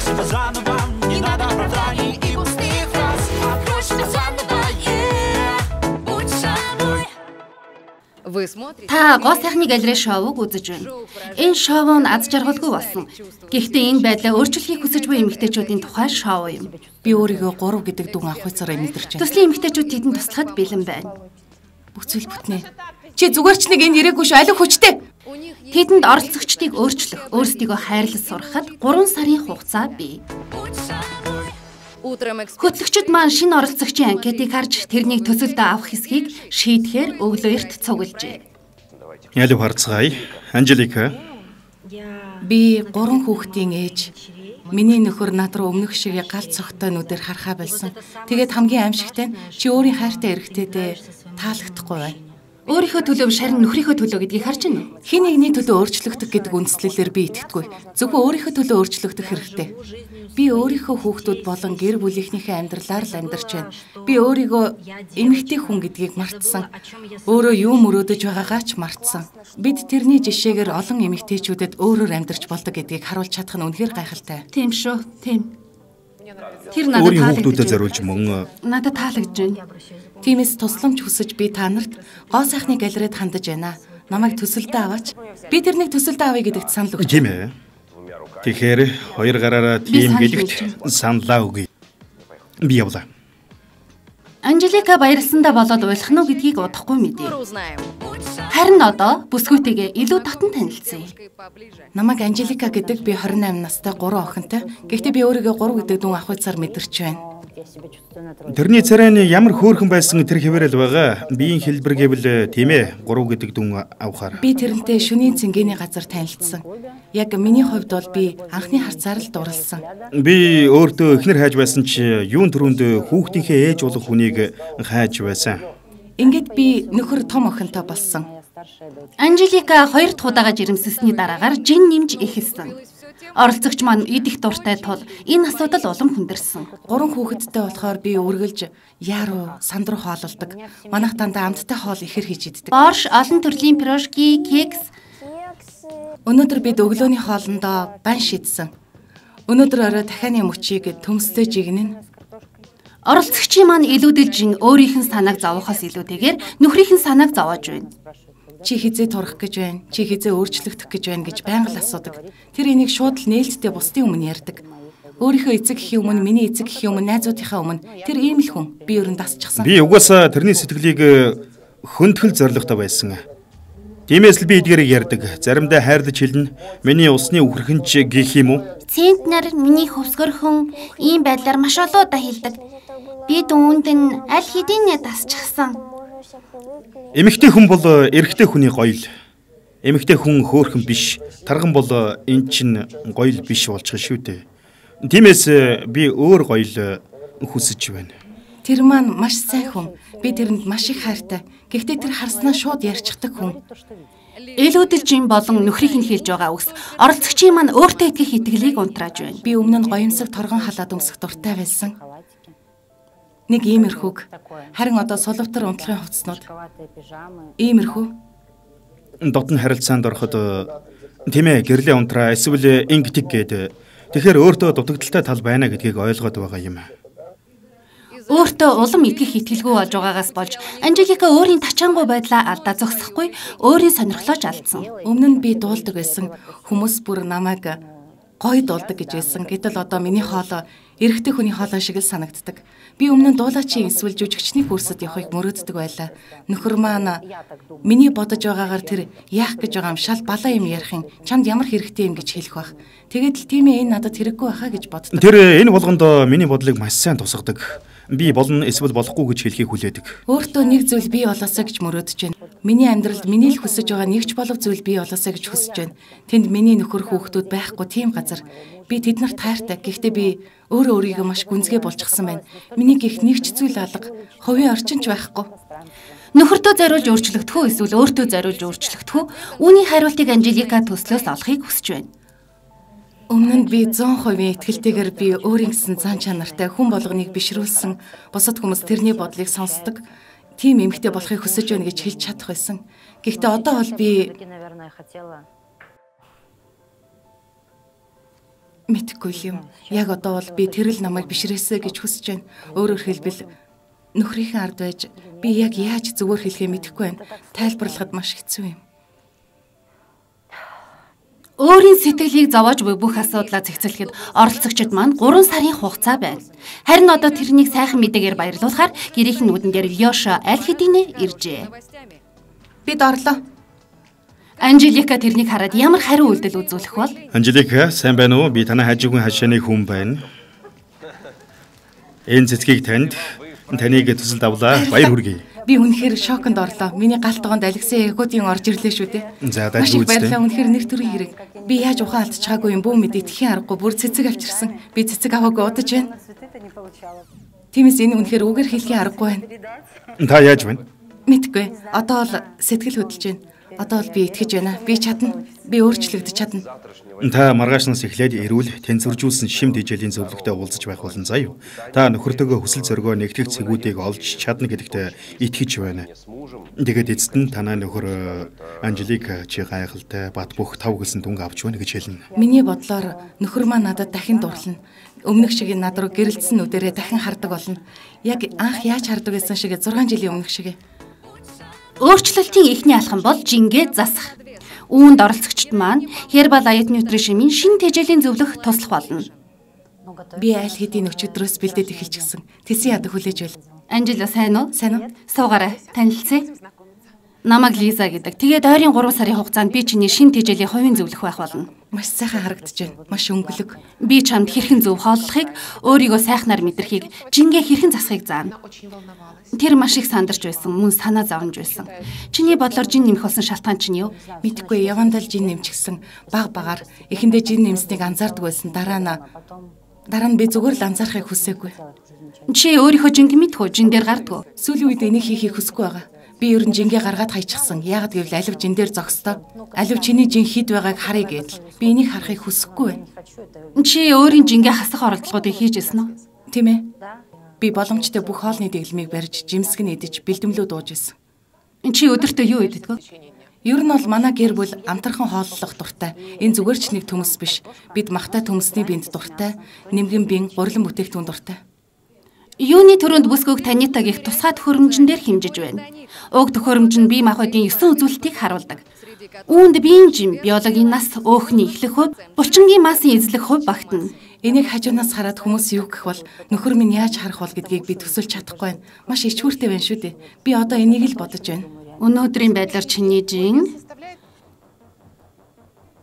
себя заново, не надо оправданий и пустых фраз. Открой себя заново, будь собой. Та гоо сайхны галерей шоуг үзэж байна. Энэ шоу нь аз жаргалгүй болсон. Гэхдээ энэ байдлаа өөрчлөхийг хүсэж буй эмэгтэйчүүдийн тухай шоу юм. Би өөрийгөө 3 гэдэг дүн авах хуйцаараа мэдэрч байна. Төслийн эмэгтэйчүүд тэдэнд туслахад бэлэн байна. Бүцэл бүтнэ. Чи зүгээр ч нэг энэ ирээгүй шүү, алив хүчтэй. Тэдэнд оролцогчдыг өөрчлөх, өөрсдийгөө хайрлаж сурахад 3 сарын хугацаа бий. Хөтлөгчид маань шинэ оролцогчийн анкетыг харж тэрнийг төсөлдөө авах хэсгийг шийдэхээр өглөө эрт цуглжээ. Ялив харцгаая. Анжелика. Би 3 хүүхдийн ээж. Миний нөхөр над руу өмнөх шиг галт цогтой нүдээр харахаа болсон. Тэгээд хамгийн аимшигтай нь чи өөрийн хайртай эрэгтэйдээ таалагдахгүй байна. Өөрийнхөө төлөө шарин нөхрийнхөө төлөө гэдгийг харж байна уу? Хин нэгний төлөө өөрчлөгдөх гэдэг үндслэлээр би итгэдэггүй. Зөвхөн өөрийнхөө төлөө өөрчлөгдөх хэрэгтэй. Би өөрийнхөө хүүхдүүд болон гэр бүлийнхнийхээ амьдралаар л амьдарч байна. Би өөрийгөө эмэгтэй хүн гэдгийг мартсан. Өөрөө юу мөрөөдөж байгаагаа ч мартсан. Бид тэрний жишээгээр олон эмэгтэйчүүдэд өөрөөр амьдарч болдог гэдгийг харуулж чадах нь үнэхээр гайхалтай. Тийм шүү, тийм. Тэр надад хүүхдүүдэд зориулж мөн надад таалагдж байна. Тиймээс тусламж хүсэж би та нарт гоо сайхны галерейд хандаж байна. Намайг төсөлдөө аваач. Би тэрнийг төсөлдөө авъя гэдэгт санал өгч. Тийм ээ. Тэгэхээр хоёр гараараа тийм гэдэгт саналаа өгье. Би явлаа. Анжелика баярлсандаа болоод уйлах нь гэдгийг удахгүй мэдээ. Харин одоо бүсгүйтэйгээ илүү татан танилцъя. Намайг Анжелика гэдэг, би 28 настай 3 охинтой. Гэхдээ би өөрийгөө 3 гэдэг дүн авах хуйцаар мэдэрч байна. Тэрний царайны ямар хөөрхөн байсан тэр хэвээрэл байгаа. Биеийн хэлбэр гэвэл тийм ээ 3 гэдэг дүн авахаар. Би тэрнтэй шөнийн цэнгэний газар танилцсан. Яг миний хувьд бол би анхны харцаар л дурлсан. Би өөртөө эхнэр хайж байсан чи юун төрөнд хүүхдийнхээ ээж болох хүнийг хайж байсан. Ингээд би нөхөр том охинтой болсон. Анжелика 2 дахь удаага жирэмсэлсний дараагаар жин нэмж эхэлсэн. Оролцогч маань идэх дуртай тул энэ асуудал улам хүндэрсэн. 3 хүүхэдтэй болохоор би үргэлж яруу, сандруу хоололдог. Манайх дандаа амттай хоол ихэр хийж иддэг. Борш, олон төрлийн пирожки, кекс. Өнөөдөр бид өглөөний хоолндоо бан шийдсэн. Өнөөдөр орой дахианы мөчийг төмстэй жигнэн. Оролцогчийн маань илүүдэлж өөрийнх нь санааг зовоохоос илүүтэйгээр нөхрийнх нь санааг зовоож байна. Чи хизээ турах гэж байна, чи хизээ өөрчлөгдөх гэж байна гэж байнга л асуудаг. Тэр энийг шууд л нээлттэй бусдын өмнө ярьдаг. Өөрийнхөө эцэг гэхийн өмнө, миний эцэг гэхийн өмнө, найзуудынхаа өмнө тэр ийм л хүн. Би ерөн дасчихсан. Би угаасаа тэрний сэтгэлийг хөндлөх зоригтой байсан. Тиймээс л би эдгээрийг ярьдаг. Заримдаа хайрлаж хэлнэ. Миний усны үхрхэнч гэх юм уу? Центнер миний хөвсгөрхөн ийм байдлаар маш олоодаа хэлдэг. Би дүүнд нь аль хэдийн дасчихсан. Эмэгтэй хүн бол эрэгтэй хүний гоёл. Эмэгтэй хүн хөөрхөн биш. Тарган бол эн чинь гоёл биш болчих шүү дээ. Тиймээс би өөр гоёл хүсэж байна. Тэр маань маш сайн хүн. Би тэрэнд маш их хайртай. Гэхдээ тэр харснаа шууд ярьчихдаг хүн. Илүүдэлжин болон нөхрийнх нь хэлж байгаа үгс оролцогчийн маань өөртөө итгэх итгэлийг унтрааж байна. Би өмнө нь гоёмсог торгон халаад өмсөх дуртай байсан. Нэг иймэрхүүг. Харин одоо сулвтар унтлахын хувцснууд. Иймэрхүү. Дотн харилцаанд ороход тийм ээ гэрлээ унтраа эсвэл ингэдэг гээд тэгэхээр өөртөө дутагдaltaй тал байна гэдгийг ойлгоод байгаа юм. Өөртөө улам итгэх итгэлгүй болж байгаагаас болж Анжелика өөрийн тачаангуй байдлаа алдаа зогсохгүй өөрийн сонирхлоож алдсан. Өмнө нь би дуулдаг байсан. Хүмүүс бүр намайг гоё дуулдаг гэж байсан. Гэтэл одоо миний хоолой эрэгтэй хүний хоолой шиг л санагддаг. Би өмнө нь дуулаачийн эсвэл жүжигчний курсад явахыг мөрөөддөг байлаа. Нөхөр маань миний бодож байгаагаар тэр яах гэж байгаа юм шал балаа юм ярих юм. Чамд ямар хэрэгтэй юм гэж хэлэх байх. Тэгээд л тийм ээ энэ надад хэрэггүй байхаа гэж боддог. Тэр энэ болгонд миний бодлыг маш сайн тусгадаг. Би болно эсвэл болохгүй гэж хэлхийг хүлээдэг. Өөртөө нэг зүйл бий болоосаа гэж мөрөөдөж байна. Миний амьдралд миний л хүсэж байгаа нэгч болов зүйл бий болоосаа гэж хүсэж байна. Тэнд миний нөхөр хүүхдүүд байхгүй тийм газар. Би тэднэрт хайртай. Гэхдээ би өөрөө өөрийгөө маш гүнзгий болчихсон байна. Миний гих нэгч зүйл алга. Хувийн орчинч байхгүй. Нөхөртөө зориулж өөрчлөгдөх үү эсвэл өөртөө зориулж өөрчлөгдөх үү? Үүний хариултыг Анжелика төслөөс олохыг хүсэж байна. Өмнө нь би 100% итгэлтэйгээр би өөрийн гэсэн зан чанартай хүн болгоныг бишрүүлсэн. Бусад хүмүүс тэрний бодлыг сонсдог. Тийм эмэгтэй болохыг хүсэж байна гэж хэлж чадах байсан. Гэхдээ одоо бол би Мэдхгүй юм. Яг одоо бол би тэрэл намайг бишрээсэ гэж хүсэж байна. Өөрөөр хэлбэл нөхрийнхээ ард байж би яг яаж зүгээр хэлэхээ мэдэхгүй байна. Тайлбарлахад маш хэцүү юм. Өөрийн сэтгэлийг зовоож буй бүх асуудлаа зэгцэлэхэд оролцогчид маань 3 сарын хугацаа байна. Харин одоо тэрнийг сайхан мэдээгээр баярлуулахаар гэрийнхэн нүдэн дээр Лёша аль хэдийнэ иржээ. Бид орлоо. Анжелика тэрнийг хараад ямар хариу үйлдэл үзүүлэх бол? Анжелика, сайн байна уу? Би танай хажуугийн хашааны хүн байна. Энэ цэцгийг таныг төсөлд авлаа. Баяр хүргэе. Би үнэхээр шоконд орлоо. Миний галтгоонд Алексей Ягуудын орж ирлээ шүү дээ. За дайггүй үстэй. Баярлалаа, үнэхээр нэр төрийн хэрэг. Би яаж ухаан алдчихаагүй юм бүү мэд итгэхийн аргагүй бүр цэцэг авчирсан. Би цэцэг аваагүй удаж байна. Тиймээс энэ үнэхээр үгээр хэлхийн аргагүй байна. Та яаж байна? Мэдгүй. Одоо л сэтгэл хөдлөж байна. Одоо л би итгэж байна. Би чадна. Би өөрчлөгдөж чадна. Та маргаашнаас эхлээд эрүүл тэнцвэржүүлсэн шимт хичээлийн зөвлөгтэй уулзаж байх болон заяа. Та нөхөртөөгөө хүсэл зоригоо нэгтгэх цэгүүдийг олж чадна гэдэгт итгэж байна. Тэгээд эцэст нь танай нөхөр Анжелика чи гайхалтай бат бөх тав гэлсэн дүнг авч байна гэж хэлнэ. Миний бодлоор нөхөр маань надад дахин дурлана. Өмнөх шиг над руу гэрэлтсэн нүдэрээ дахин хардаг болно. Яг анх яаж хардаг байсан шиг 6 жилийн өмнөх шиг. Өөрчлөлтийн эхний алхам бол жингээ засах. Үүнд оролцогчид маань Herbal Light Nutrition-ийн шинэ тэжээлийн зөвлөх туслах болно. Би аль хэдийн өчигдрөөс бэлдээд эхэлчихсэн. Тэсийн ядаг хүлээж байл. Анжела сайн уу? Сайн уу? Суугаарай. Танилцъя. Намайг Лиза гэдэг. Тэгээд ойрын 3 сарын хугацаанд би чиний шинэ тэжээлийн хувийн зөвлөх байх болно. Маш сайхан харагдаж байна. Маш өнгөлөг. Би чамд хэрхэн зөв хооллохыг, өөрийгөө сайхнаар мэдрэхийг, жингээ хэрхэн засахыг заана. Тэр маш их сандарч байсан, мөн санаа зовж байсан. Чиний бодлоор жин нэмэх болсон шалтгаан чинь юу? Мэдхгүй, явандал жин нэмчихсэн. Баг багаар эхэндээ жин нэмснийг анзаардаг байсан. Дараа нь би зүгээр л анзаарахыг хүсээгүй. Чи өөрийнхөө жинг мэдхүү, жин дээр гардгүй. Сүүлийн үед энийг хийхийг хүсэхгүй байгаа. Би ер нь жингээ гаргаад хайчихсан. Яагаад гэвэл алив жин дээр зогсдоо. Алив чиний жин хэд байгааг харъя гэдэл. Би энийг харахыг хүсэхгүй байна. Чи өөрийн жингээ хасах оролдлогоодыг хийжсэн үү? Тийм ээ. Би боломжтой бүх хоолны дэглэмийг барьж, жимсг нь идэж, бэлдэмлүү дууж исэн. Чи өдөртөө юу иддэг вэ? Ер нь бол манай гэр бүл амтархан хооллох дуртай. Энэ зүгээр ч нэг төмөс биш. Бид махтай төмөсний бинд дуртай, нэмгэн бин, гурилан бүтээгдэхүүн дуртай. Юуны төрөнд бүсгүйг Танита гих тусгай төхөөрөмжн дээр хэмжиж байна. Уг төхөөрөмж нь бие махбодын 9 үзүүлэлтийг харуулдаг. Үүнд биеийн жим, биологийн нас, өөхний эхлэх хувь, булчингийн массын эзлэх хувь багтана. Энийг хажуунаас хараад хүмүүс юу гэх бол нөхөр минь яаж харах бол гэдгийг би төсөлж чадахгүй байна. Маш ичгүүртэй байна шүү дээ. Би одоо энийг л бодож байна. Өнөөдрийн байдлаар чиний жин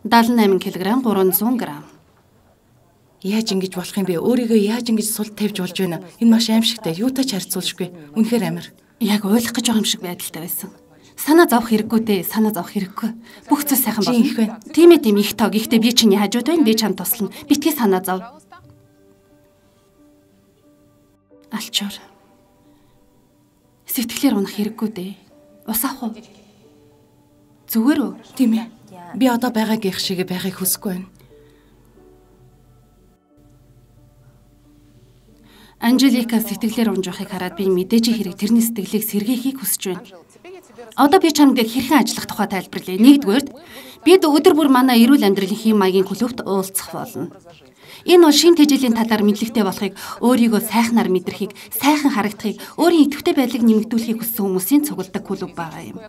78 кг 300 г. Яаж ингэж болох юм бэ? Өөрийгөө яаж ингэж сул тавьж болж байна? Энэ маш аимшигтай. Юутай ч харьцуулшгүй. Үнэхээр амар. Яг ойлгох гэж байгаа юм шиг байдалтай байсан. Санаа зовох хэрэггүй дээ. Санаа зовох хэрэггүй. Бүх зүйл сайхан болно. Тийм ээ, тийм их тоо. Гэхдээ би чиний хажууд байна. Би чамд туслана. Битгий санаа зов. Алчуур. Сэтгэлээр унах хэрэггүй дээ. Ус авах уу? Зүгээр үү? Тийм ээ. Би одоо байгаагийнх шиг байхыг хүсэхгүй байна. Анжелика сэтгэлээр унжихыг хараад би мэдээж хэрэг тэрний сэтгэлийг сэргээхийг хүсэж байна. Одоо би чамд хэрхэн ажиллах тухай тайлбарлая. Нэгдүгээр, бид өдөр бүр манай эрүүл амьдралын хэм маягийн клубт уулзах болно. Энэ бол шин тэжээлийн талаар мэдлэгтэй болохыг, өөрийгөө сайхнаар мэдрэхийг, сайхан харагдахыг, өөрийн идэвхтэй байдлыг нэмэгдүүлэхийг хүссэн хүмүүсийн цугладаг клуб байгаа юм.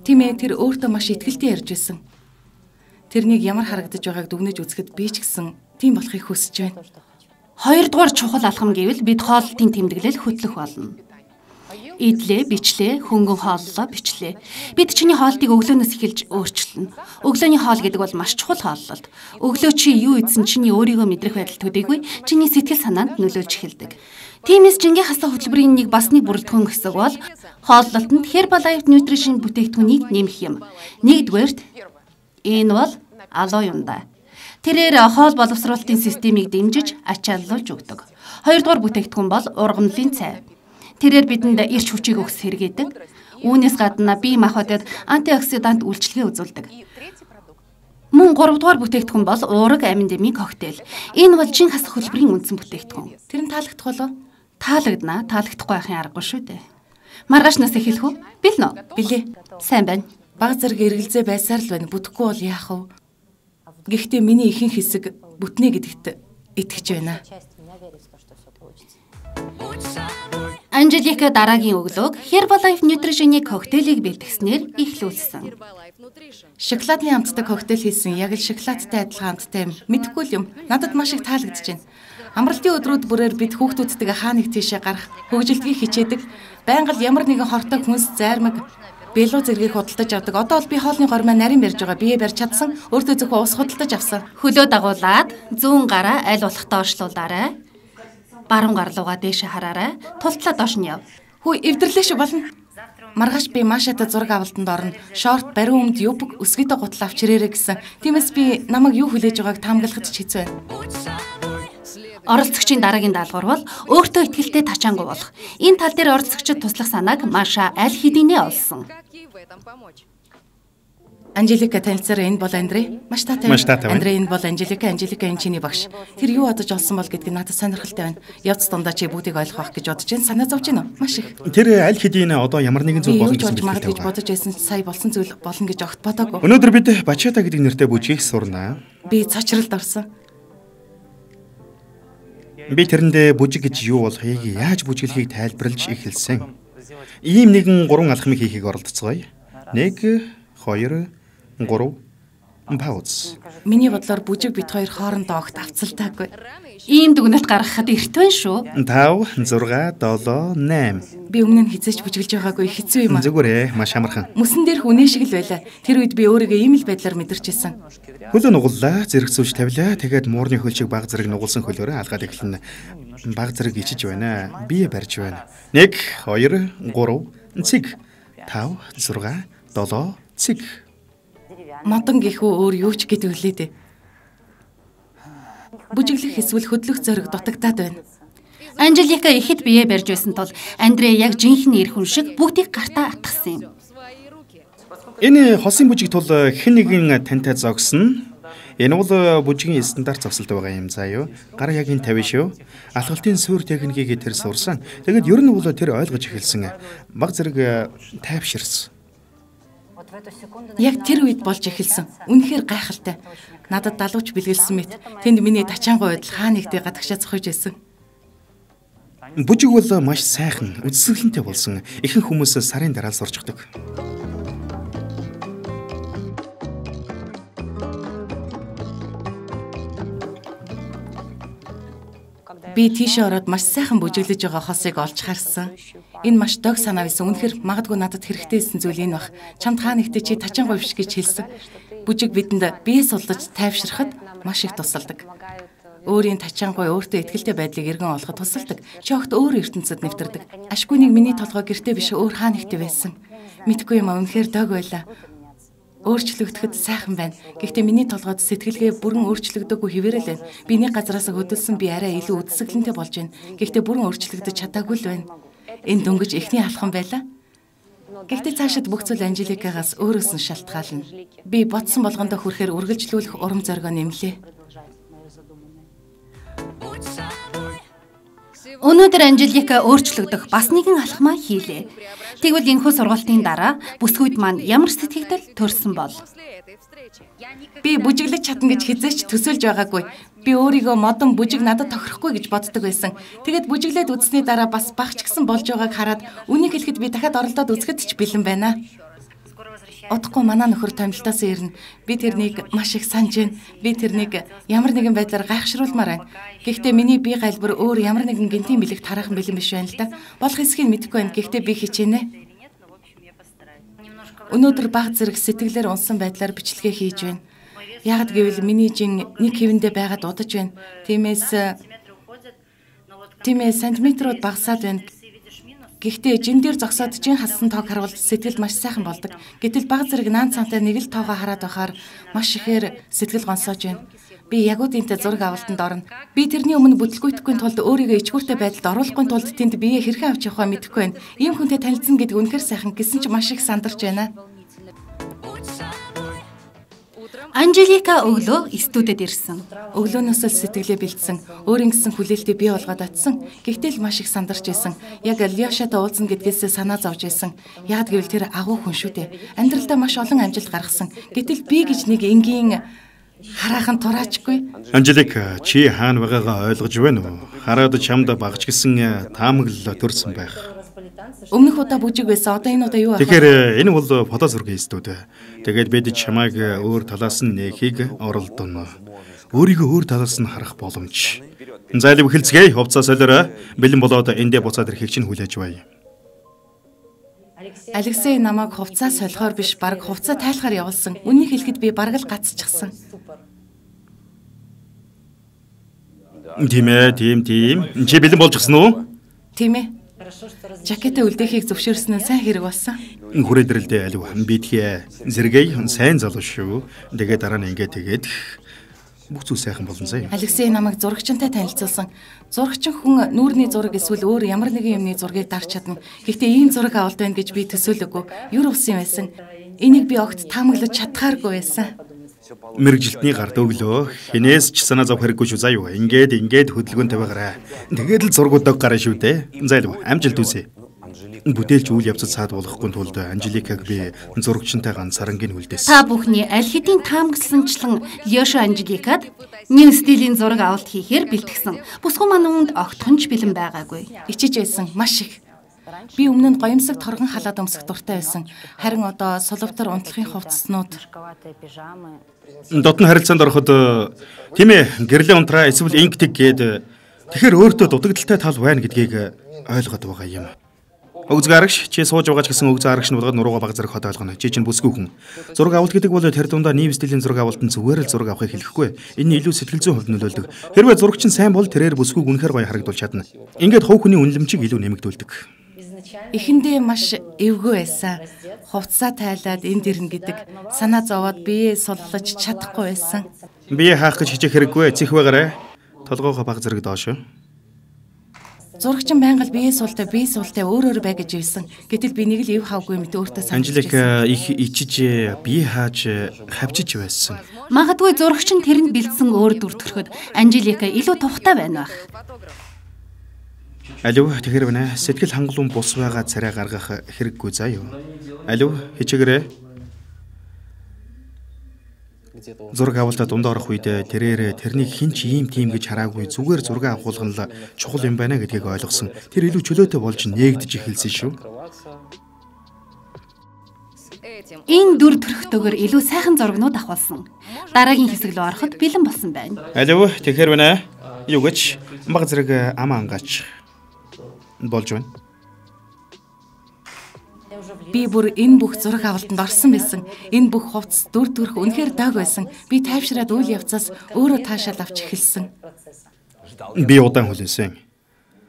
Тийм ээ, тэр өөртөө маш ихтгэлтэй ярьж байсан. Тэрнийг ямар харагдаж байгааг дүгнэж үзэхэд би ч гэсэн тийм болохыг хүсэж байна. Хоёрдугаар чухал алхам гэвэл бид хоолтын тэмдэглэл хөтлөх болно. Идлээ, бичлээ, хөнгөн хооллоо, бичлээ. Бид чиний хоолтыг өглөөнөөс эхэлж өөрчилнө. Өглөөний хоол гэдэг бол маш чухал хооллолт. Өглөө чи юу идсэн чиний өөрийгөө мэдрэх байдал төдийгүй чиний сэтгэл санаанд нөлөөлж эхэлдэг. Тиймээс жингээ хасах хөтөлбөрийн нэг бас нэг бүрэлдэхүүн хэсэг бол хооллолтод Herbal Light Nutrition бүтээгдэхүүнийг нэмэх юм. Нэгдүгээрт энэ бол алуу юм да. Тэрээр хоол боловсруулалтын системийг дэмжиж ачааллуулж өгдөг. Хоёрдугаар бүтээгдэхүүн бол ургамлын цай. Тэрээр бидэнд эрч хүчийг өгс хэрэгэдэг. Үүнээс гадна бие махбодод антиоксидант үйлчилгээ үзүүлдэг. Мөн гуравдугаар бүтээгдэхүүн бол уураг аминдемийн коктейл. Энэ бол жин хасах хөтөлбөрийн үндсэн бүтээгдэхүүн. Тэр нь таалагдах болов? Таалагдана. Таалагдахгүй байхын аргагүй шүү дээ. Маргаашнаас эхэлэх үү? Билнэ үү? Билээ. Сайн байна. Баг зэрэг эргэлзээ байсаар л байна. Бүтэхгүй бол яах вэ? Гэхдээ миний ихэнх хэсэг бүтнэ гэдэгт итгэж байна. Анжелика дараагийн өглөөг Herbalife Nutrition-ийн коктейлийг бэлтгэснээр эхлүүлсэн. Шоколадны амттай коктейл хийсэн яг л шоколадтай адилхан амттай юм. Мэдхгүй л юм. Надад маш их таалагдж байна. Амралтын өдрүүд бүрээр бид хүүхдүүдтэйгээ хаа нэг тийшээ гарах, хөгжилдгийг хичээдэг, байнга л ямар нэгэн хортой хүнс зайрмаг бело зэргийг худалдаж авдаг. Одоо бол би хоолны гормоо нарийн барьж байгаа. Бие барьж чадсан. Өөртөө зөвхөн ус худалдаж авсан. Хөлөө дагуулад зүүн гараа аль болох доошлуулаарай. Баруун гар руугаа дээшээ хараарай. Тултлаа доош нь яв. Хүү эвдэрлээ шүү болно. Маргааш би Машатай зураг авалтанд орно. Шорт, бариун өмд, юбг, өсгийтэй гутал авч ирээрэй гэсэн. Тиймээс би намайг юу хүлээж байгааг таамаглахад ч хэцүү байна. Оролцогчийн дараагийн даалгавар бол өөртөө ихтэй тачаангуй болох. Энэ тал дээр оролцогчид туслах санааг Маша аль хэдийнэ олсон. Анжелика танилцаараа энэ бол Андре. Маш таатай. Андре энэ бол Анжелика энэ чиний багш. Тэр юу бодож олсон бол гэдгийг надад сонирхолтой байна. Явц дундаа чи бүгдийг ойлгох гэж бодож байна. Санаа зовж байна уу? Маш их. Тэр аль хэдийн одоо ямар нэгэн зүйл болно гэсэн мэт гэж бодож байсан сая болсон зүйл болно гэж огт бодоогүй. Өнөөдөр бид Бачата гэдэг нэртэй бүжгийг сурнаа. Би цочролд орсон. Би тэрэндээ бүжиг гэж юу болохыг, яаж бүжиглэхийг тайлбарлаж эхэлсэн. Ийм нэгэн 3 алхмыг хийхийг оролдоцгоё. 1 2 3 пауз. Миний бодлоор бүжиг бит хоёр хоорондоо огт авцалтаагүй. Ийм дүгнэлт гаргахад эрт байна шүү. 5 6 7 8. Би өмнө нь хизээч бүжиглж байгаагүй хэцүү юм аа. Зүгээрээ маш амархан. Мөсөн дээр хүнээ шиг л байлаа. Тэр үед би өөрийгөө ийм л байдлаар мэдэрчээсэн. Хөлөө нугаллаа, зэрэг зүүж тавилаа. Тэгээд муурны хөлчийг баг зэрэг нугалсан хөлөөрөө алгаад эхэлнэ. Баг зэрэг ичиж байна. Бие барьж байна. 1 2 3 цэг 5 6 7 цэг. Модон гэхүү өөр юу ч гэдэг үлээ дээ. Бүжиглэх эсвэл хөдлөх зориг дутагдаад байна. Анжелика ихэд бие барьж байсан тул Андре яг жинхэнэ эр хүн шиг бүгдийг гартаа атгсан юм. Энэ хосын бүжиг тул хэн нэгэн тантай зогсно. Энэ бол бүжигийн стандарт зогсолт байгаа юм заа юу. Гар яг энэ тавина шүү. Алхалтын суур техникийг тэр сурсан. Тэгэд ер нь бол тэр ойлгож эхэлсэн. Баг зэрэг тайвширсан. Яг тэр үед болж эхэлсэн. Үнэхээр гайхалтай. Надад далууч бэлгэлсэн мэт. Тэнд миний тачаангуй байдал хаа нэгтээ гадагшаа цохиж байсан. Бүжиг бол маш сайхан, үзэсгэлэнтэй болсон. Ихэнх хүмүүс сарын дараа сурчдаг. Би тийшээ ороод маш сайхан бүжиглэж байгаа хосыг олж харсан. Энэ маш дог санаа байсан. Үнэхээр магадгүй надад хэрэгтэйсэн зүйл энэ бах. Чамд хаа нэгтээ чи тачаангуй биш гэж хэлсэн. Бүжиг бидэнд бие судлаж тайвширахад маш их тусалдаг. Өөрийн тачаангуй өөртөө ихтэй байдлыг эргэн олоход тусалдаг. Чи огт өөр ертөнцид нэвтэрдэг. Ашгүй нэг миний толгой гэртээ биш өөр хаа нэгтээ байсан. Мэдгүй юм аа үнэхээр дог байлаа. Өөрчлөгдөхөд сайхан байна. Гэхдээ миний толгойд сэтгэлгээ бүрэн өөрчлөгдөөгүй хэвээрэл байна. Би нэг газараас хөдөлсөн би арай илүү үдсгэлэнтэй болж байна. Гэхдээ бүрэн өөрчлөгдөж чадаагүй л байна. Энэ дөнгөж эхний алхам байлаа. Гэхдээ цаашид бүх зүйл Анжеликагаас өөрөөс нь шалтгаална. Би бодсон болгондоо хүрэхээр үргэлжлүүлэх урам зоригоо нэмлээ. Өнөөдөр Анжелика өөрчлөгдөх бас нэгэн алхмаа хийлээ. Тэгвэл энэхүү сургалтын дараа бүсгүйд маань ямар сэтгэгдэл төрсөн бол? Би бүжиглэж чадна гэж хизээч төсөөлж байгаагүй. Би өөрийгөө модон бүжиг надад тохирохгүй гэж боддог байсан. Тэгээд бүжиглээд үзсний дараа бас багч гисэн болж байгааг хараад үнийг хэлэхэд би дахиад оролдоод үзэхэд ч бэлэн байна. Удахгүй манай нөхөр томилтоос ирнэ. Би тэрнийг маш их санаж байна. Би тэрнийг ямар нэгэн байдлаар гайхшруулмаар байна. Гэхдээ миний бие галбар өөр ямар нэгэн гинтийн бэлэг тараахан бэлэн биш байна л да. Болох эсхийг мэдэхгүй байна. Гэхдээ би хичээнэ. Өнөөдөр баг зэрэг сэтгэлээр унсан байдлаар бичлэгээ хийж байна. Ягд гэвэл миний жин нэг хэвэндээ байгаад удаж байна. Тиймээс сантиметрууд багасаад байна. Гэхдээ жин дээр зогсоод жин хассан тоог харуул сэтгэл маш сайхан болдог. Гэтэл баг зэрэг наан цантай нэг л тоогоо хараад байхаар маш ихээр сэтгэл гонсоож байна. Би ягуудынтай зураг авалтанд орно. Би тэрний өмнө бүтлгүйтгэхгүй тулд өөрийгөө ичгүүртэй байдалд оруулахгүй тулд тэнд бие хэрхэн авч явахаа мэдэхгүй байна. Ийм хүнтэй танилцсан гэдэг үнэхээр сайхан гэсэн ч маш их сандарч байна. Анжелика өглөө студид ирсэн. Өглөөнөөс л сэтгэлээ бэлдсэн. Өөрийн гэсэн хүлээлтийг бий болгоод атсан. Гэхдээ л маш их сандарч байсан. Яг Лиошатай уулзна гэдгээсээ санаа зовж байсан. Яг гэвэл тэр агуу хүн шүү дээ. Амьдралдаа маш олон амжилт гаргасан. Гэтэл би гэж нэг энгийн Хараахан тураачгүй. Анжелика, чи хаана байгаагаа ойлгож байна уу? Хараад чамд багч гисэн таамаглал төрсөн байх. Өмнөх удаа бүжиг байсан. Одоо энэ удаа юу вэ? Тэгэхээр энэ бол фото зургийн студ. Тэгээд бид чамайг өөр талаас нь нээхийг оролдоно. Өөрийгөө өөр талаас нь харах боломж. Зайлв хэлцгээе. Хувцас солиорой. Бэлэн болоод эндээ буцаад ирэхийг чинь хүлээж бай. Алексей намайг хувцас солихоор биш, баг хувцас тайлахаар явуулсан. Үнийг хэлэхэд би бараг л гацчихсан. Тийм ээ, тийм. Чи бэлэн болж гисэн үү? Тийм ээ. Жакетаа үлдээхийг зөвшөөрсөн нь сайн хэрэг болсон. Хүрээдрэлдээ алив. Бидхий зэрэг сайн залуу шүү. Тэгээд дараа нь тэгээд бүх зүйл сайхан болно сая. Алексей намайг зурагчтай танилцуулсан. Зурагчин хүн нүүрний зураг эсвэл өөр ямар нэгэн юмны зургийг дарж чадна. Гэхдээ ийм зураг авалт байна гэж би төсөөлөөгүй. Юр усан байсан. Энийг би огт таамаглаж чадхааргүй байсан. Мэргэжилтний гард өглөө хинээс ч санаа зов хэрэггүй шүү заа юу. Ингээд хөдөлгөөнтэй байгаарай. Тэгээд л зургуудаа гараа шүү дээ. Зайлв амжилт үсэ. Бүтээлч үйл явцад саад болохгүй тулд Анжеликаг би зурагчтай ганцарангийн хүлдээс. Та бүхний аль хэдийн таамагласанчлан Лёшо Анжеликад нэг стилийн зураг авалт хийхээр бэлтгэсэн. Бусган маань үүнд огтхонч бэлэн байгаагүй. Ичиж байсан маш их. Би өмнө нь гоёмсог торгон халаад өмсөх дуртай байсан. Харин одоо сулвтар унтлахын хувцаснууд. Дотн харилцаанд ороход тийм ээ гэрлээ унтраа эсвэл инктиг гээд тэгэхээр өөртөө дутагдaltaй тал байна гэдгийг ойлгоод байгаа юм. Өгзг арагш чи сууж байгаа ч гэсэн өгзг арагш нь болгоод нурууга баг зэрэг хот ойлгоно. Чи чинь бүсгүй хүн. Зураг авалт гэдэг бол тэр дундаа нийгэм стилийн зураг авалтанд зүгээр л зураг авахыг хэлэхгүй. Энэ илүү сэтгэл зүйн хувьд нөлөөлдөг. Хэрвээ зурагч нь сайн бол тэрээр бүсгүйг үнэхээр гоё харагдуулж чадна. Ингээд хувь хүний үнэлэмжийг илүү нэмэгдүүлдэг. Эхэндээ маш эвгүй байсан. Хувцас тайлаад энд ирнэ гэдэг санаа зовоод бие суллаж чадахгүй байсан. Бие хаах гэж хичээх хэрэггүй. Цэх байгаарай. Толгоогоо баг зэрэг доош. Зурагчин байнга бие суултаа өөр бай гэж ивсэн. Гэтэл би нэг л ив хавгүй мэт өөртөө санаж байсан. Анжелика их ичиж бие хааж хавчиж байсан. Магадгүй зурагч нь тэрэнд бэлдсэн өөр дүр төрхөд Анжелика илүү тухтай байна байх. Алив тэгэхээр байна. Сэтгэл хангалуун бус байгаа царай гаргах хэрэггүй заа юу. Алив хичээгээрэй. Зураг авалтаа дундаа орох үед тэрээр тэрнийг хинч ийм тийм гэж хараагүй зүгээр зураг авахулган л чухал юм байна гэдгийг ойлгосон. Тэр илүү чөлөөтэй болж нээгдэж эхэлсэн шүү. Энэ дүр төрхтөөр илүү сайхан зурагнууд авахулсан. Дараагийн хэсэг рүү ороход бэлэн болсон байна. Алив тэгэхээр байна. Юу гэж баг зэрэг амаа ангаач болж байна. Би бүр энэ бүх зураг авалтанд орсон байсан. Энэ бүх хувцас дүр төрх үнэхээр дог байсан. Би тайвшраад үйл явцаас өөрөө таашаал авч эхэлсэн. Би удаан хүлээсэн.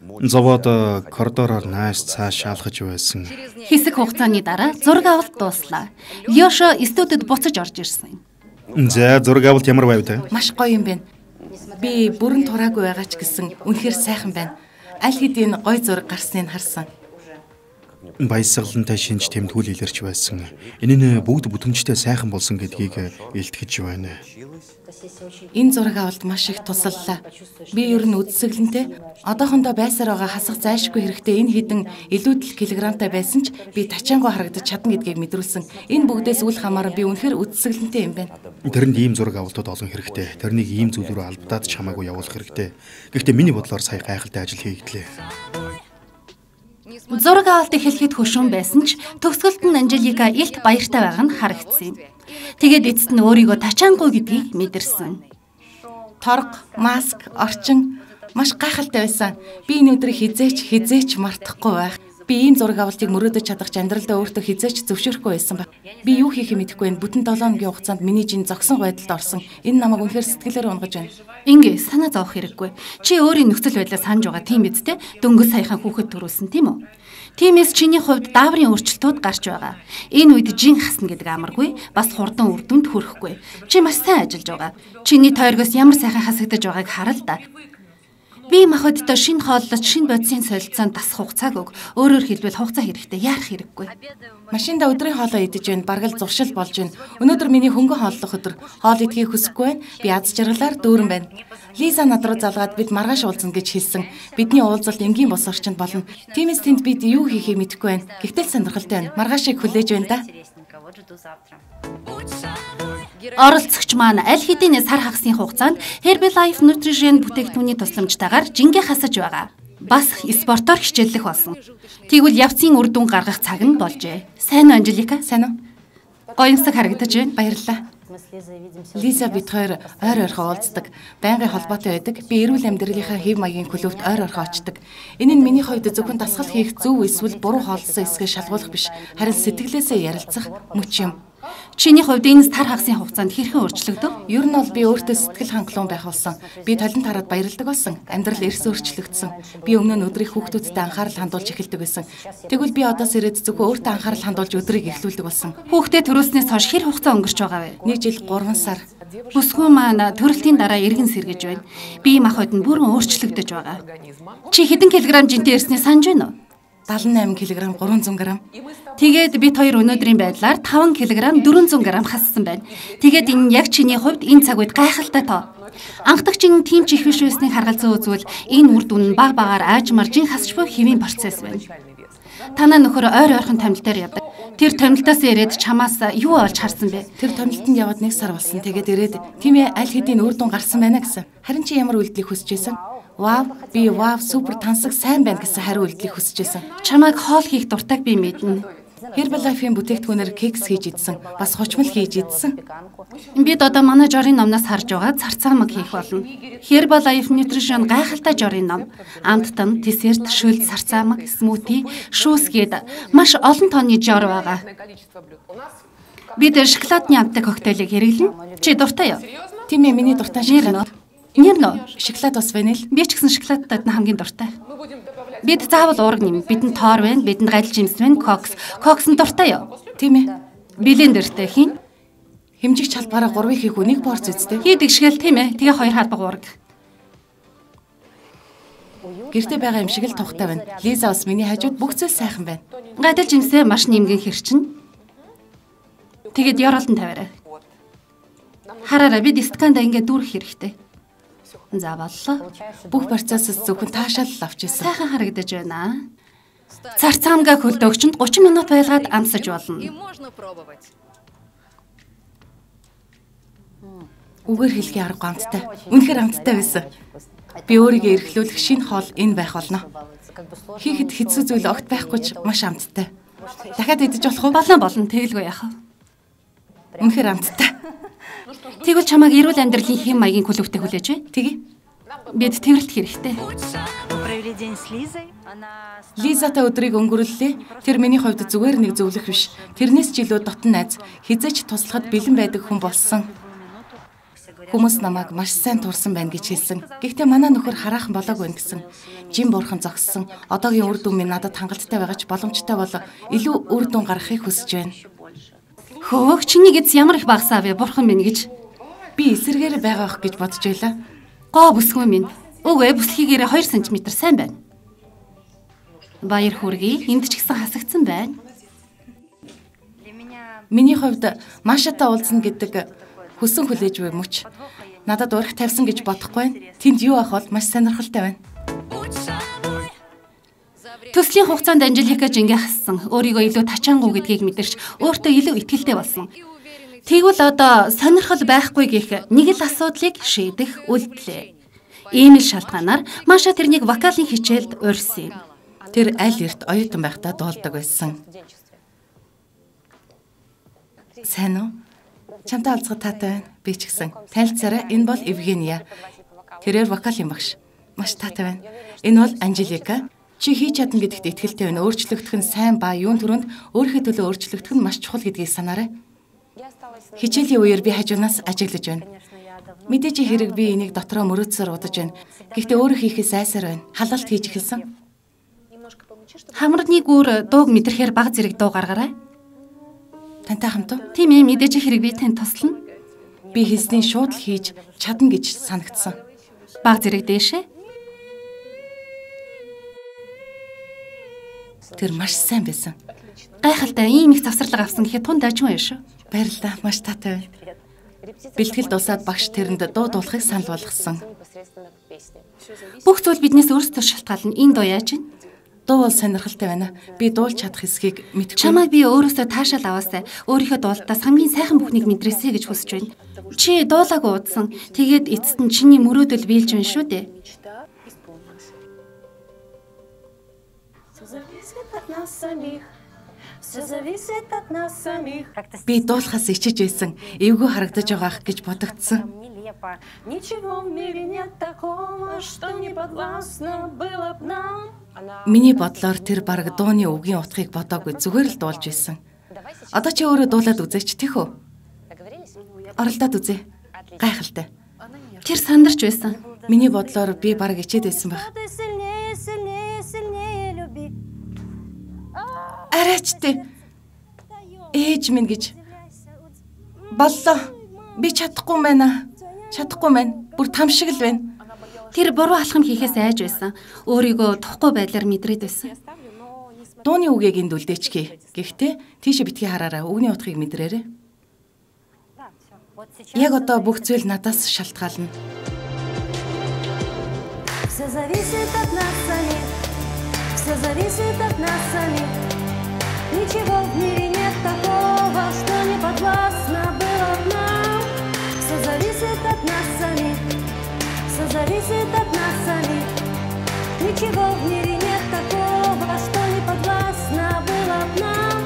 Зовоод коридороор нааш цааш шаалгаж байсан. Хэсэг хугацааны дараа зураг авалт дууслаа. Лёшо студид буцаж орж ирсэн. За зураг авалт ямар байв те? Маш гоё юм байна. Би бүрэн тураагүй байгаа ч гэсэн үнэхээр сайхан байна. Аль хэдийн гоё зураг гарсныг харсан. Баясгалантай шинж тэмдгүүл илэрч байсан. Энэ нь бүгд бүтэмжтэй сайхан болсон гэдгийг илтгэж байна. Энэ зураг авалт маш их тусаллаа. Би ер нь үдсэглэнтэй одоохондоо байсаар байгаа хасах зайлшгүй хэрэгтэй энэ хідэн илүүдэл килограмтай байсан ч би тачаангуу харагдаж чадна гэдгийг мэдрүүлсэн. Энэ бүгдээс үл хамааран би үнэхээр үдсэглэнтэй юм байна. Тэрэнд ийм зураг авалтууд олон хэрэгтэй. Тэрнийг ийм зүйл рүү албадаад ч хамаагүй явуулах хэрэгтэй. Гэхдээ миний бодлоор сая гайхалтай ажил хийгдлээ. Зураг авалт эхлэхэд хөшүүн байсан ч төгсгөлд нь Анжелика илт баяртай байгаа нь харагдсан юм. Тэгээд эцэст нь өөрийгөө тачаангүй гэдгийг мэдэрсэн. Торго, маск, орчин маш гайхалтай байсан. Би энэ өдрийг хизээч мартахгүй байх. Би ийм зураг авалтыг мөрөөдөж чадах амьдралдаа өөртөө хизээч зөвшөөрөхгүй байсан ба. Би юу хийхээ мэдэхгүй байна. Бүтэн 7 өдрийн хугацаанд миний жин зогсон байдалд орсон. Энэ намайг үнэхээр сэтгэлээр унгаж байна. Ингээ санаа зовох хэрэггүй. Чи өөрийн нөхцөл байдлаа санаж байгаа тийм биз дээ. Дөнгөс саяхан хүүхэд төрүүлсэн тийм үү? Тиймээс чиний хувьд дааврын өөрчлөлтүүд гарч байгаа. Энэ үед жин хасна гэдэг амаргүй, бас хурдан үр дүнд хүрэхгүй. Чи маш сайн ажиллаж байгаа. Чиний тойргоос ямар сайхан хасагдаж байгааг хараа л да. Би махбодтой шинэ хооллолт, шинэ бодисын солилцоонд тасах хугацааг өг. Өөрөөр хэлбэл хугацаа хэрэгтэй, яарах хэрэггүй. Машинда өдрийн хоолоо идэж байна, бараг л зуршил болж байна. Өнөөдөр миний хөнгөн хооллох өдөр. Хоол идэхийг хүсэхгүй байна. Би аз жаргалаар дүүрэн байна. Лиза над руу залгаад бид маргааш уулзна гэж хэлсэн. Бидний уулзалт энгийн бос орчинд болно. Тиймээс тэнд бид юу хийхээ мэдэхгүй байна. Гэхдээ сонирхолтой байна. Маргаашийг хүлээж байна да. Оролцогч маань аль хэдийн сар хагасны хугацаанд Herbalife Nutrition бүтээгдэхүүний тусламжтайгаар жингээ хасаж байгаа. Бас спортоор хичээллэх болсон. Тэгвэл явцын үр дүн гаргах цаг нь болжээ. Сайн уу Анжелика? Сайн уу? Гоёмсаг харагдаж байна. Баярлалаа. Лиза бид хоёр ойр ойрхон уулздаг. Байнгын холбоотой байдаг. Би эрүүл амьдралынхаа хэв маягийн клубт ойр ойрхон очдог. Энэ нь миний хувьд зөвхөн дасгал хийх зөв эсвэл буруу хооллосон эсгээ шалгуулах биш. Харин сэтгэлээсээ ярилцах мөч юм. Чиний хувьд энэ тар хагасны хугацаанд хэрхэн өөрчлөгдөв? Ер нь бол би өөртөө сэтгэл хангалуун байх болсон. Би талент хараад баярлдаг болсон. Амьдрал эрс өөрчлөгдсөн. Би өмнө нь өдрийг хүүхдүүдтэй анхаарал хандуулж эхэлдэг байсан. Тэгвэл би одоос ирээд зөвхөн өөртөө анхаарал хандуулж өдрийг эхлүүлдэг болсон. Хүүхдээ төрүүлснээс хойш хэр хугацаа өнгөрч байгаа вэ? 1 жил 3 сар. Бүсгүй маань төрөлтийн дараа эргэн сэргэж байна. Бие махбод нь бүрэн өөрчлөгдөж байгаа. Чи хэдэн килограмм жинтэй ирсний санаж байна уу? 78 кг 300 г. Тэгээд бид хоёр өнөөдрийн байдлаар 5 кг 400 г хассан байна. Тэгээд энэ яг чиний хувьд энэ цаг үед гайхалтай тоо. Анхдагч энэ тийм ч их биш байсныг харгалзан үзвэл энэ үр дүн нь баг багаар аажмаар жин хасч буй хэвийн процесс байна. Танаа нөхөр ойр ойрхон томилтоор явдаг. Тэр томилтоос ирээд чамаас юу олж харсан бэ? Тэр томилтонд яваад 1 сар болсон. Тэгээд ирээд тийм ээ аль хэдийн үр дүн гарсан байна гэсэн. Харин чи ямар үйлдэлийг хүсэж байсан? Вау, би супер тансаг сайн байна гэсэн хариу үйлдэлийг хүсэж байсан. Чамайг хоол хийх дуртайг би мэднэ. Herbalife-ийн бүтээгдэхүүнээр кекс хийж идсэн, бас хучмал хийж идсэн. Бид одоо манай жорын номноос харж байгаа царцаамаг хийх болно. Herbalife Nutrition гайхалтай жорын ном. Амттан, десерт, шүлд, царцаамаг, смути, шүүс гээд маш олон тооны жор байгаа. Бид шоколадны амттай коктейлийг хэрэглэнэ. Чи дуртай юу? Тийм ээ, миний дуртай шоколад. Нэр шоколад бас байна л. Би ч гэсэн шоколадтай хамгийн дуртай. Бид заавал уураг нэм. Бидэнд тоор байна, бидэнд гальж жимс байна, кокс. Кокс нь дуртай юу? Тийм ээ. Блендертэй хийн. Хэмжигч халбаараа 3 хийх үнийг порц үсттэй. Хийдэг шгээл тийм ээ. Тэгээ 2 халбаг уураг. Гэртээ байгаа юм шиг л тухтай байна. Лиза бас миний хажууд бүх зүйл сайхан байна. Гальж жимсээ маш нэмгэн хэрчин. Тэгээд ёроолтон тавиарай. Хараараа бид стаканда ингээд дүүрэх хэрэгтэй. За боллоо. Бүх процессыг зөвхөн таашаал авч ирсэн. Сайхан харагдаж байна. Царцаамгаа хөлдөөгчөнд 30 минут байлгаад амсаж болно. Үгээр хэлхий арга амттай. Үнэхээр амттай байсан. Би өөрийгөө эрхлүүлэх шинэ хоол энэ байх болно. Хийхэд хэцүү зүйл огт байхгүй ч маш амттай. Дахиад идэж болох уу? Болно. Тэгэлгүй яах вэ? Үнэхээр амттай. Тэгвэл чамайг эрүүл амьдралын хэм маягийн клубтээ хүлээж бай. Тэгье. Бид тэрэлт хэрэгтэй. Лизатай өдрийг өнгөрүүллээ. Тэр миний хувьд зүгээр нэг зөвлөх биш. Тэрнээс ч илүү дотн найз, хизээч туслахад бэлэн байдаг хүн болсон. Хүмүүс намайг маш сайн турсан байна гэж хэлсэн. Гэхдээ манай нөхөр хараахан болоогүй гэсэн. Жим бурхан зогссон. Одоогийн үр дүн минь надад хангалттай байгаа ч боломжтой бол илүү үр дүн гаргахыг хүсэж байна. Хөөх чиний гэз ямар их багсаа вэ? Бурхан минь гэж. Би эсэргээр байгаа ах гэж бодож байлаа. Гоо бүсгүй минь. Үгүй бүсгийгээрээ 2 см сайн байна. Баяр хүргэе. Энд ч гэсэн хасагдсан байна. Миний хувьд Машатай уулзна гэдэг хүсэн хүлээж буй мөч. Надад урах тавьсан гэж бодохгүй байна. Тэнд юу ах бол маш сонирхолтой байна. Төслийн хугацаанд Анжелика жингээ хассан. Өөрийгөө илүү тачаангуй гэдгийг мэдэрч өөртөө илүү итгэлтэй болсон. Тэгвэл одоо сонирхол байхгүй гэх нэг л асуудлыг шийдэх үйлдэлээ. Ийм л шалтгаанаар Маша тэрнийг вокалын хичээлд урьсан юм. Тэр аль эрт оюутан байхдаа дуулдаг байсан. Сайн уу? Чамтай уулзах таатай байна. Би ч гэсэн. Танилцаарай. Энэ бол Евгения. Тэрээр вокалын багш. Маш таатай байна. Энэ бол Анжелика. Чи хийж чадна гэдэгт итгэлтэй байна. Өөрчлөгдөх нь сайн ба юун түрүүнд өөрийнхөө төлөө өөрчлөгдөх нь маш чухал гэдгийг санаарай. Хичээлийн үеэр би хажуунаас ажиглаж байна. Мэдээж хэрэг би энийг дотроо мөрөөдсөөр удаж байна. Гэхдээ өөрөө хийхээс айсаар байна. Халалт хийж эхэлсэн. Хамарны гүр дууг мэдрэхээр баг зэрэг дуу гаргаарай. Тантай хамт уу? Тийм ээ, мэдээж хэрэг би танд туслана. Би хэлсний шууд л хийж чадна гэж санагдсан. Баг зэрэг дээшээ. Тэр маш сайн байсан. Гайхалтай ийм их завсарлага авсан гэхэд тунд ажгүй юм шүү. Баярлалаа. Маш таатай байна. Бэлтгэл дуусаад багш тэрэнд дуу дуулахыг санал болгосон. Бүх зүйл биднээс өөрсдөө шалтгаална. Энэ дуу яаж вэ? Дуу бол сонирхолтой байна. Би дуулж чадах эсхийг мэдгүй. Чамайг би өөрөөсөө таашаал аваасай. Өөрийнхөө дуулалтаас хамгийн сайхан бүхнийг мэдрээсэй гэж хүсэж байна. Чи дуулаагүй удсан. Тэгээд эцэст нь чиний мөрөөдөл биелж байна шүү дээ. Би дуулахаас ичиж байсан. Эвгүй харагдаж байгаах гэж бодогдсон. Миний бодлоор тэр бараг дууны үгийн утгыг бодоогүй зүгээр л дуулж байсан. Одоо чи өөрөө дуулаад үзээч тийх үү? Оролдоод үзье. Гайхалтай. Тэр сандарч байсан. Миний бодлоор би бараг ичээд байсан байх. Арайчтэй. Ээж минь гэж. Боллоо. Би чадахгүй байна. Чадахгүй байна. Бүр там шиг л байна. Тэр буруу алхам хийхээс айж байсан. Өөрийгөө тухгүй байдлаар мэдрээд байсан. Дууны үгийг энд үлдээчхий. Гэхдээ тийшээ битгий хараараа үгний утгыг мэдрээрэй. Яг одоо бүх зүйл надаас шалтгаална. Все зависит от нас самих. Все зависит от нас самих. Ничего в мире нет такого, что не подвластно было нам. Все зависит от нас самих. Все зависит от нас самих. Ничего в мире нет такого, что не подвластно было нам.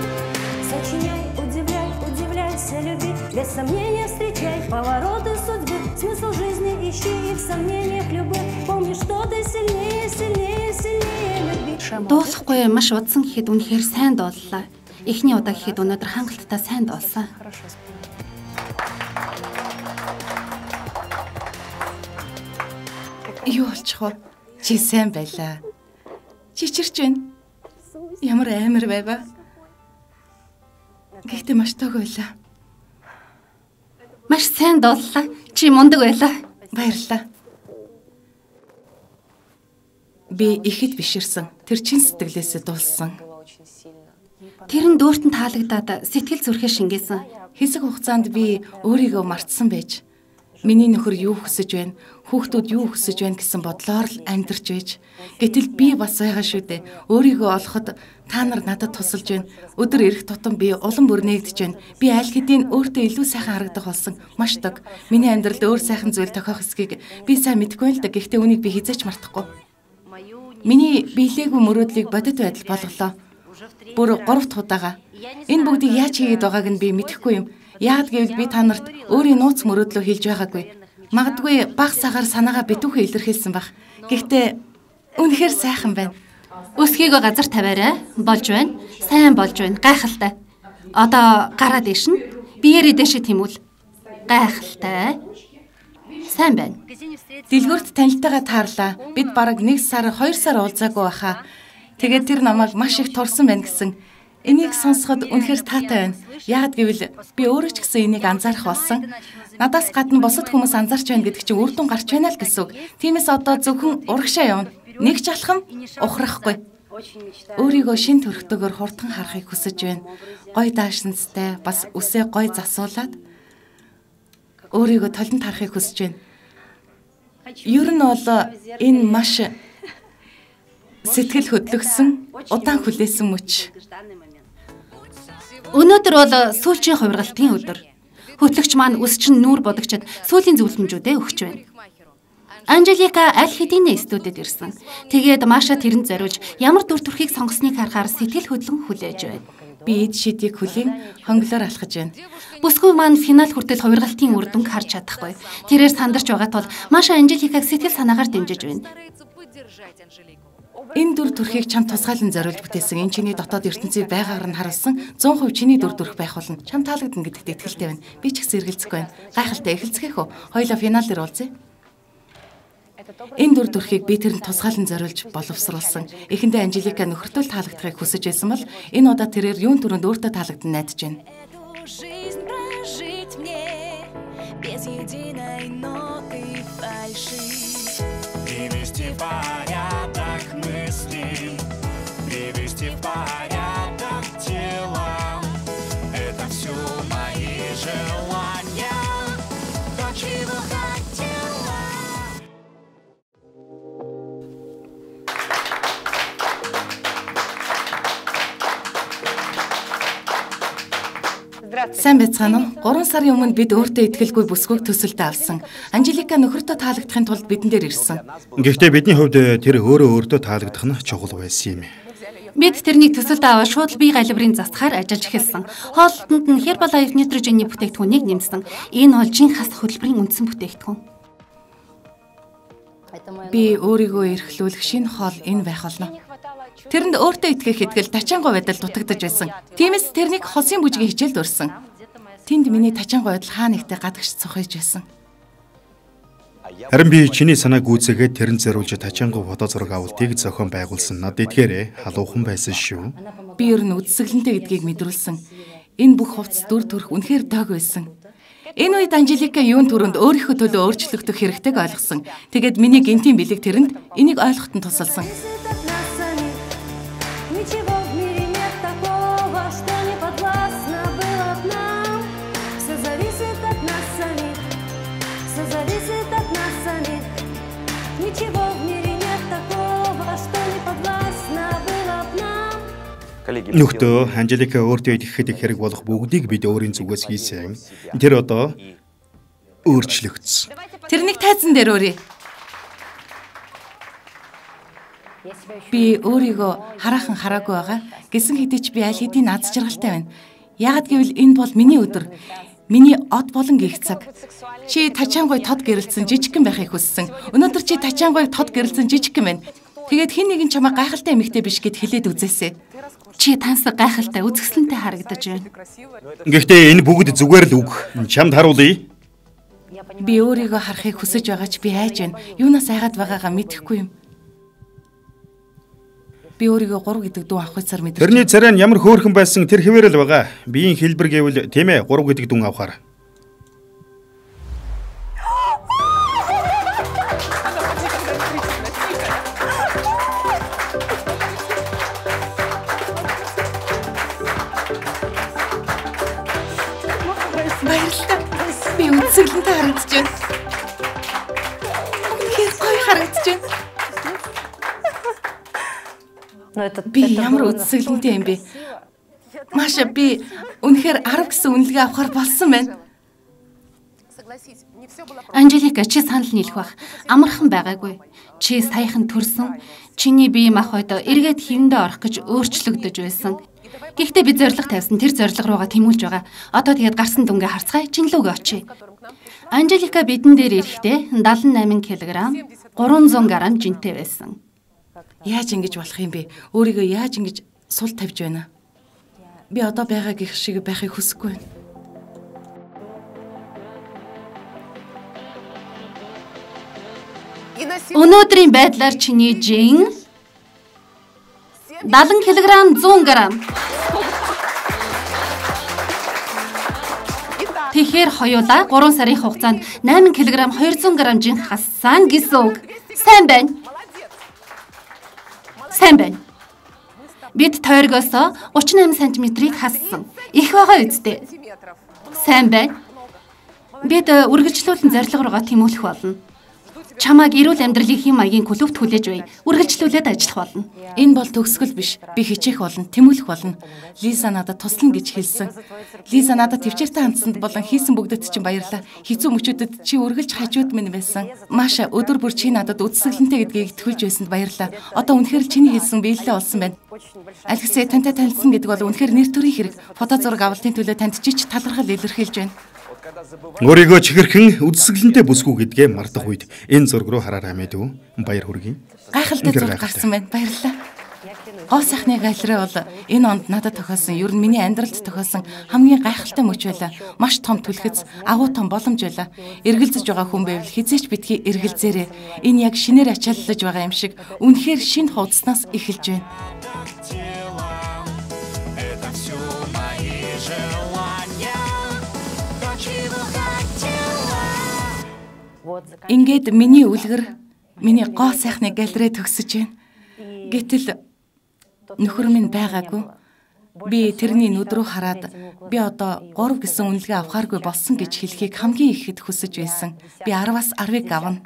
Сочиняй, удивляй, удивляйся, люби. Без сомнения встречай повороты судьбы. Смысл жизни ищи и в сомнениях любых. Помни, что ты сильнее, сильнее, сильнее любви. Дуулахгүй маш удсан гэхэд үнэхээр сайн дууллаа. Эхний удаа гэхэд өнөөдөр хангалттай сайн дуулсан. Юу болчих вэ? Чи сайн байлаа. Чичирч байна. Ямар амар байваа. Гэхдээ маш тог байлаа. Маш сайн дууллаа. Чи мундаг байлаа. Баярлалаа. Би ихэд биширсэн. Тэр чин сэтгэлээсээ дуулсан. Тэр нь дүүртэн таалагдаад сэтгэл зүрхээ шингээсэн. Хэсэг хугацаанд би өөрийгөө мартсан байж, миний нөхөр юу хүсэж байна, хүүхдүүд юу хүсэж байна гэсэн бодлоор л амьдарч байж, гэтэл би бас байгаа шүү дээ. Өөрийгөө олоход та нар надад тусалж байна. Өдөр ирэх тутам би улам бүр нээгдэж байна. Би аль хэдийн өөртөө илүү сайхан харагдах болсон. Маш дог. Миний амьдралд өөр сайхан зүйл тохиох эсхийг би сайн мэдэхгүй л да. Гэхдээ үнийг би хизээч мартахгүй. Миний биелээгүй мөрөөдлийг бодит байдал болголоо. Бүр 3 дахь удаага. Энэ бүгдийг яаж хийгээд байгааг нь би мэдэхгүй юм. Яагад гэвэл би та нарт өөрийн нууц мөрөөдлөө хэлж байгаагүй. Магадгүй баг сагаар санаагаа битүүхээ илэрхийлсэн баг. Гэхдээ үнэхээр сайхан байна. Өсгийгөө газар тавиарай. Болж байна. Сайн болж байна. Гайхалтай. Одоо гараа дээш нь. Биеэрээ дээшээ тэмүүл. Гайхалтай. Сайн байна. Дэлгүүрт танилтайгаа таарлаа. Бид бараг 1 сар 2 сар уулзаагүй баха. Тэгээд тэр намайг маш их турсан байна гэсэн. Энийг сонсоход үнэхээр таатай байна. Яагад гэвэл би өөрөө ч гэсэн энийг анзаарах болсон. Надаас гадна бусад хүмүүс анзаарч байна гэдэг чинь үр дүн гарч байна л гэсэн үг. Тиймээс одоо зөвхөн урагшаа явна. Нэг ч алхам ухрахгүй. Өөрийгөө шин төрхтөгөөр хурдан харахыг хүсэж байна. Гой даашинцтай, бас үсээ гой засуулаад өөрийгөө толинд харахыг хүсэж байна. Ер нь бол энэ маш сэтгэл хөдлөсөн, удаан хүлээсэн мөч. Өнөөдөр бол сүүлчийн хувиргалтын өдөр. Хөтлөгч маань өсчин нүүр бодогчд сүүлийн зөвлөмжүүдээ өгч байна. Анжелика аль хэдийн студид ирсэн. Тэгээд Маша тэрэнд зориулж ямар дүр төрхийг сонгосныг харахаар сэтгэл хөдлөн хүлээж байна. Би эд шидийг хүлийн хонглоор алхаж байна. Бүсгүй маань финал хүртэл хувиргалтын үр дүнг харж чадахгүй. Тэрээр сандарч байгаа тул Маша Анжеликаг сэтгэл санаагаар дэмжиж байна. Энэ дүр төрхийг чамд тусгаалan зориулж бүтээсэн. Энэ чиний дотоод ертөнцийг байгаагаар нь харуулсан 100% чиний дүр төрх байх болно. Чам таалагдана гэдэгт итгэлтэй байна. Би ч гэсэн эргэлзэхгүй байна. Гайхалтай эхэлцгээх үү? Хоёулаа финал дээр уулзъя. Энэ дүр төрхийг би тэрэнд тусгаалan зориулж боловсруулсан. Эхэндээ Анжелика нөхөртөө таалагдахыг хүсэж байсан бол энэ удаа тэрээр юун түрүүнд өөртөө таалагдана найдаж байна. Привести в порядок мысли, привести в порядок тела. Это все мои желания, то, чего хотела. Сайн байцгаана уу? 3 сарын өмнө бид өөртөө итгэлгүй бүсгүйг төсөлдөө авсан. Анжелика нөхөртөө таалагдахын тулд бидэн дээр ирсэн. Гэхдээ бидний хувьд тэр өөртөө таалагдах нь чухал байсан юм. Бид тэрнийг төсөлдөө аваад шууд бие галбирын засахаар ажиллаж эхэлсэн. Хоолтонд нь Herbalife Nitrogen-ийн бүтээгдэхүүнийг нэмсэн. Энэ бол жинхэнэ хөтөлбөрийн үндсэн бүтээгдэхүүн. Би өөрийгөө эрхлүүлэх шинэ хоол энэ байх болно. Тэрэнд өөртөө итгэх итгэл тачаангуй байдал дутагдж байсан. Тиймээс тэрнийг хосын бүжгийн хичээлд өрсөн. Тэнд миний тачаангуй байдал хаа нэгтээ гадагш цохиж байсан. Харин би чиний санааг гүйцээгээд тэрэнд зориулж тачаангуй фото зураг авалтыг зохион байгуулсан. Над эдгээрээ халуухан байсан шүү. Би ер нь үдсгэлэнтэй гэдгийг мэдрүүлсэн. Энэ бүх хувцас дүр төрх үнэхээр дог байсан. Энэ үед Анжелика юун түрүүнд өөрийнхөө төлөө өөрчлөгдөх хэрэгтэйг ойлгосон. Тэгээд миний гинтийн бэлэг тэрэнд энийг ойлгоход нь тусалсан. Ничего в мире нет такого, что не подвластно было б нам. Все зависит от нас самих, все зависит от нас самих. Ничего в мире нет такого, что не подвластно было б нам. Нөхдөө Анжелика өөртөө итгэхэд их хэрэг болох бүгдийг бид өөрийн зүгээс хийсэн. Тэр одоо өөрчлөгдсөн. Тэрнийг тайзан дээр өрье. Би өөрийгөө хараахан хараагүй байгаа. Гэсэн хэдий ч би аль хэдийн аз жаргалтай байна. Яагад гэвэл энэ бол миний өдөр. Миний од болон гих цаг. Чи тачаангуй тод гэрэлцэн жижигхэн байхыг хүссэн. Өнөөдөр чи тачаангуй тод гэрэлцэн жижигхэн байна. Тэгээд хэн нэгэн чамаа гайхалтай эмэгтэй биш гэд хэлээд үзээсэй. Чи тансаг гайхалтай үзэсгэлэнтэй харагдаж байна. Гэхдээ энэ бүгд зүгээр л үг. Чамд харуулъя. Би өөрийгөө харахыг хүсэж байгаа ч би айж байна. Юунаас айгаад байгаагаа мэдэхгүй юм. Би өөрийгөө 3 гэдэг дүү авах цаар мэдэрч. Тэрний царай нь ямар хөөрхөн байсан тэр хэвээр л байгаа. Биеийн хэлбэр гэвэл тийм ээ 3 гэдэг дүн авахаар. Баярлалаа. Би үдсгэлэнтэй харагдаж байна. Үнэхээр гоё харагдаж байна. Би ямар үдсгэлэнтэй юм бэ? Маша би үнэхээр 10 гэсэн үнэлгээ авахар болсон байна. Анжелика чи санал нийлэх бах. Амархан байгаагүй. Чи саяхан төрсөн. Чиний бие махбод эргээд хэвэндээ орох гэж өөрчлөгдөж байсан. Гэхдээ би зориг тавьсан. Тэр зориг руугаа тэмүүлж байгаа. Одоо тэгээд гарсан дүнгээ харцгаая. Чинлүүгээ очие. Анжелика бидэн дээр ирэхдээ 78 кг, 300 г жинтэй байсан. Яаж ингэж болох юм бэ? Өөрийгөө яаж ингэж сул тавьж байна? Би одоо байгаа гих шиг байхыг хүсэхгүй байна. Өнөөдрийн байдлаар чиний жин 70 кг 100 г. Тэгэхээр хоёулаа 3 сарын хугацаанд 8 кг 200 г жин хассан гэсэн үг. Сайн байна. Сайн байна. Бид тойргоос 38 см-ийг хассан. Их байгаа үсттэй. Сайн байна. Бид үргэлжлүүлэн зорилго руугаа тэмүүлэх болно. Чамааг эрүүл амьдралын хэм маягийн клубт хүлээж бай. Үргэлжлүүлээд ажиллах болно. Энэ бол төгсгөл биш. Би хичээх болно, тэмүүлэх болно. Лиза надад туслана гэж хэлсэн. Лиза надад төвчээртэй хандсанд болон хийсэн бүгдэд чинь баярлалаа. Хэцүү мөчүүдэд чи үргэлж хажууд минь байсан. Маша өдөр бүр чи надад үдсгэлэнтэй гэдгийг итгүүлж байсанд баярлалаа. Одоо үнэхээр л чиний хэлсэн биелэлээ олсон байна. Алексей тантай танилцсан гэдэг бол үнэхээр нэр төрийн хэрэг. Фото зураг авалтын төлөө танд чи талархал илэрхийлж байна. Өөрийгөө чихэрхэн үдсгэлэнтэй бүсгүй гэдгээ мартах үед энэ зураг руу хараарай мэдв. Баяр хүргэе. Гайхалтай зураг гарсан байна. Баярлалаа. Гоо сайхны галерей бол энэ онд надад тохиолсон, ер нь миний амьдралд тохиолсон хамгийн гайхалтай мөч байлаа. Маш том түлхэц, агуу том боломж байлаа. Эргэлзэж байгаа хүн байвал хизээч битгий эргэлзээрээ. Энэ яг шинээр ачааллаж байгаа юм шиг үнэхээр шинэ хуудаснаас эхэлж байна. Ингээд миний үлгэр, миний гоо сайхны галерей төгсөж байна. Гэтэл нөхөр минь байгаагүй. Би тэрний нүд рүү хараад би одоо 3 гэсэн үнэлгээ авахааргүй болсон гэж хэлхийг хамгийн ихэд хүсэж байсан. Би 10-аас 10-ыг авна.